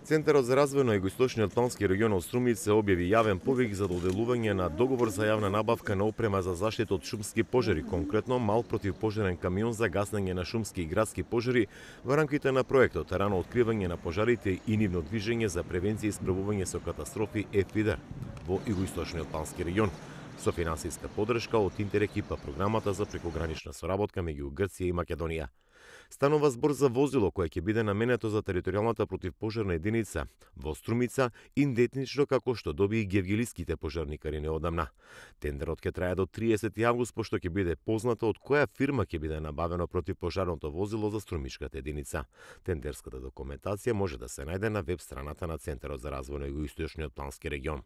Центарот за развој на Југоисточниот плански регион од Струмица објави јавен повик за доделување на договор за јавна набавка на опрема за заштита од шумски пожари, конкретно мал противпожарен камион за гаснење на шумски и градски пожари во рамките на проектот рано откривање на пожарите и нивно движење за превенција и справување со катастрофи ЕФИДЕР во Југоисточниот плански регион, со финансиска поддршка од Интерек и програмата за прекогранична соработка меѓу Грција и Македонија. Станува збор за возило кое ќе биде наменето за територијалната противпожарна единица во Струмица, идентично како што доби и гевгелиските пожарникари неодамна. Тендерот ќе трае до 30 август, пошто ќе биде познато од која фирма ќе биде набавено противпожарното возило за струмишката единица. Тендерската документација може да се најде на веб страната на Центарот за развој на Југоисточниот плански регион.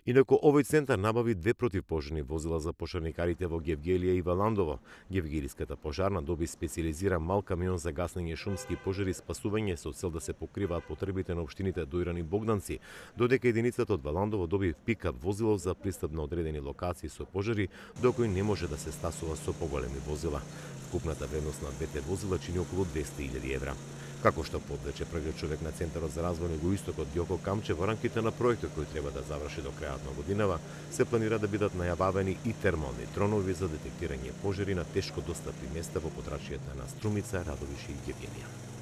Инаку овој центар набави 2 противпожарни возила за пожарникарите во Гевгелија и Валандово. Гевгелиската пожарна доби специализиран мал камион за гаснење шумски пожари и спасување со цел да се покриваат потребите на општините Дојран и Богданци, додека единицата од Валандово доби пикап возило за пристап на одредени локации со пожари, докој не може да се стасува со поголеми возила. Вкупната вредност на двете возила чини околу 200.000 евра. Како што подрече првиот човек на Центарот за развој на Југоистокот Ѓоко Камче, во рамките на проектот кој треба да заврши до крајот на годинава, се планира да бидат најававени и термални тронови за детектирање пожари на тешко достапни места во подрачјата на Струмица, Радовиш и Гевгелија.